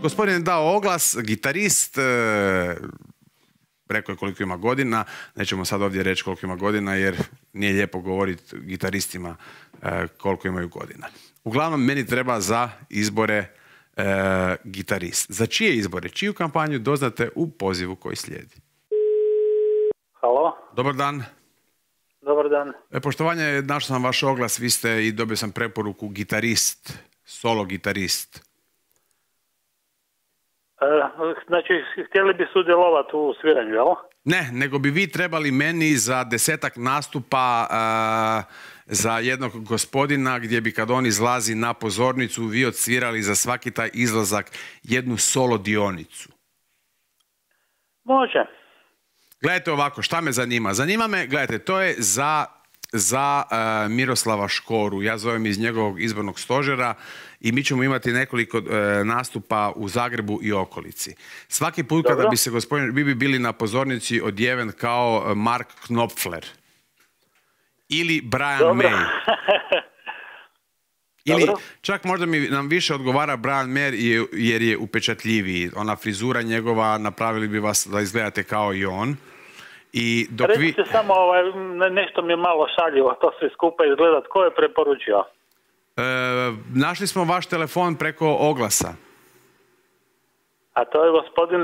Gospodin je dao oglas, gitarist, rekao je koliko ima godina, nećemo sad ovdje reći koliko ima godina jer nije lijepo govoriti gitaristima koliko imaju godina. Uglavnom, meni treba za izbore gitarist. Za čije izbore, čiju kampanju doznate u pozivu koji slijedi. Halo? Dobar dan. Dobar dan. Poštovanje, našao sam vaš oglas, vi ste i dobio sam preporuku gitarist, solo gitarist. Znači, htjeli bi sudjelovati u sviranju, jel? Ne, nego bi vi trebali meni za 10-ak nastupa za jednog gospodina gdje bi kad on izlazi na pozornicu vi odsvirali za svaki taj izlazak jednu solo dionicu. Može. Gledajte ovako, šta me zanima? Zanima me, gledajte, to je za Miroslava Škoru. Ja zovem iz njegovog izbornog stožera i mi ćemo imati nekoliko nastupa u Zagrebu i okolici. Svaki put kada bi se gospodin, vi bi bili na pozornici odjeven kao Mark Knopfler ili Brian May. Ili čak možda nam više odgovara Brian May jer je upečatljiviji. Ona frizura njegova, napravili bi vas da izgledate kao i on. I dok recite samo, nešto mi je malo šaljivo, to sve skupa izgleda. Tko je preporučio? Našli smo vaš telefon preko oglasa. A to je gospodin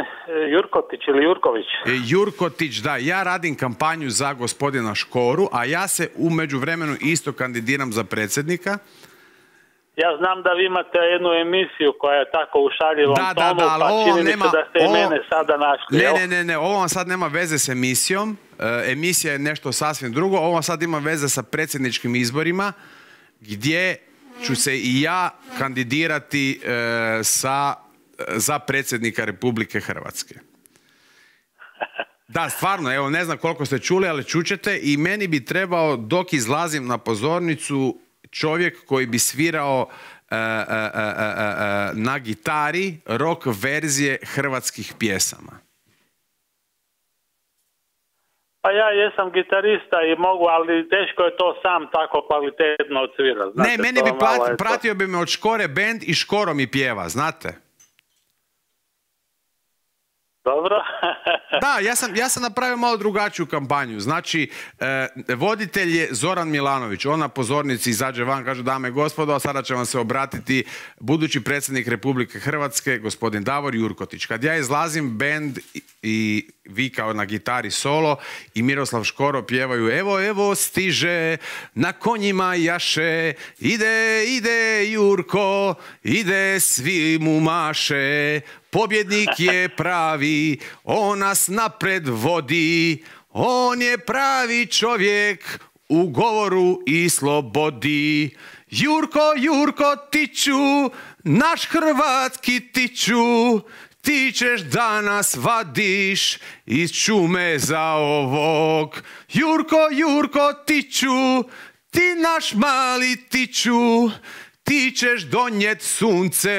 Jurkotić ili Jurković? Jurkotić, da. Ja radim kampanju za gospodina Škoru, a ja se u međuvremenu isto kandidiram za predsjednika. Ja znam da vi imate jednu emisiju koja je tako u šaljivom tonu, pa čini mi se da ste i mene sada našli. Ne, ovo vam sad nema veze s emisijom. Emisija je nešto sasvim drugo. Ovo sad ima veze sa predsjedničkim izborima, gdje ću se i ja kandidirati za predsjednika Republike Hrvatske. Da, stvarno, evo, ne znam koliko ste čuli, ali čućete, i meni bi trebao, dok izlazim na pozornicu, čovjek koji bi svirao na gitari rock verzije hrvatskih pjesama. Pa ja jesam gitarista i mogu, ali teško je to sam tako kvalitetno odsvirati. Ne, meni bi pratio bi me od Škore band i Škoro mi pjeva, znate? Dobro. Da, ja sam napravio malo drugačiju kampanju. Znači, voditelj je Zoran Milanović. On na pozornici izađe van, kaže: dame i gospodo, a sada će vam se obratiti budući predsjednik Republike Hrvatske, gospodin Davor Jurkotić. Kad ja izlazim, bend i vi kao na gitari solo i Miroslav Škoro pjevaju: evo, evo stiže, na konjima jaše, ide Jurko, ide, svi mu maše, pobjednik je pravi, on nas napred vodi, on je pravi čovjek u govoru i slobodi. Jurko tiću, naš hrvatski tiću, ti ćeš da nas vadiš iz čume za ovog. Jurko tiću, ti naš mali tiću, ti ćeš donjet sunce.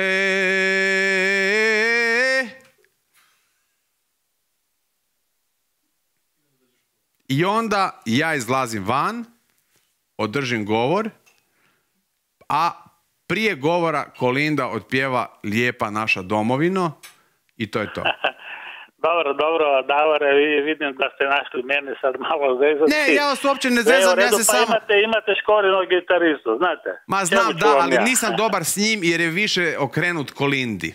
I onda ja izlazim van, održim govor, a prije govora Kolinda otpjeva Lijepa naša domovino i to je to. Dobro, Davore, vidim da ste našli mene sad malo zezati. Ne, ja vas uopće ne zezam, ja se samo... Imate Škorinog gitaristu, znate? Ma znam, da, ali nisam dobar s njim jer je više okrenut Kolindi.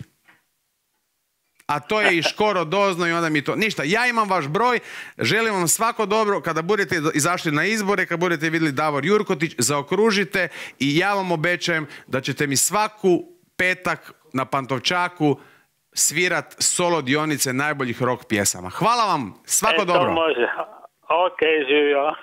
A to je i Škoro dozno i onda mi to... Ništa, ja imam vaš broj, želim vam svako dobro, kada budete izašli na izbore, kada budete vidjeli Davor Jurkotić, zaokružite i ja vam obećajem da ćete mi svaku petak na Pantovčaku svirat solo dionice najboljih rock pjesama. Hvala vam, svako dobro. To može, ok, živio.